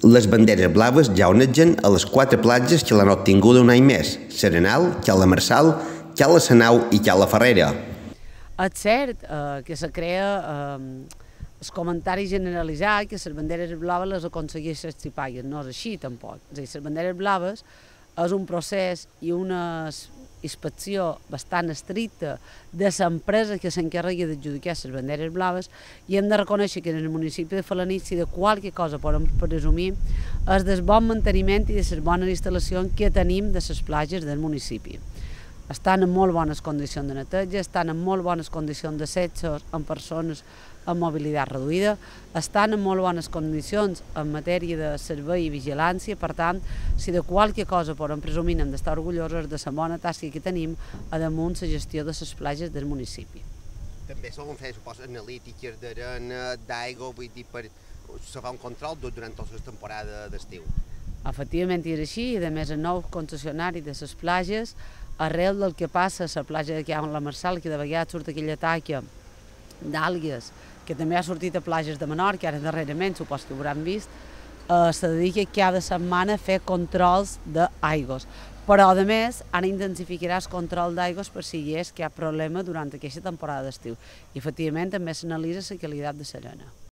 Les banderes blaves ja onegen a les 4 platges que l'han obtinguda un any més: Serenal, Cala Marçal, Cala Sanau i Cala Ferrera. És cert que se crea el comentari generalitzat que les banderes blaves les aconsegueix les xipalles. No és així tampoc. És a dir, les banderes blaves és un procés i una inspecció bastant estricta de l'empresa que s'encarrega d'adjudicar les banderes blaves, i hem de reconèixer que en el municipi de Felanitx, si de qualque cosa podem presumir, és del bon manteniment i de les bones instal·lacions que tenim de les platges del municipi. Estan en molt bones condicions de neteja, estan en molt bones condicions d'accessos amb persones amb mobilitat reduïda, estan en molt bones condicions en matèria de servei i vigilància. Per tant, si de qualque cosa podem presumir, hem d'estar orgullosos de la bona tasca que tenim a damunt la gestió de les platges del municipi. També solen fer, suposo, analítiques d'arena, d'aigua, vull dir, per fer un control durant tota la temporada d'estiu. Efectivament és així, i a més el nou concessionari de les platges, arrel del que passa a la platja de Cala Marçal, que de vegades surt aquella taca d'àlgues, que també ha sortit a platges de Menorca, ara darrerament, supos que ho hauran vist, se dedica cada setmana a fer controls d'aigües. Però, a més, ara intensificarà el control d'aigües per si hi és cap problema durant aquesta temporada d'estiu. I, efectivament, també s'analitza la qualitat de l'arena.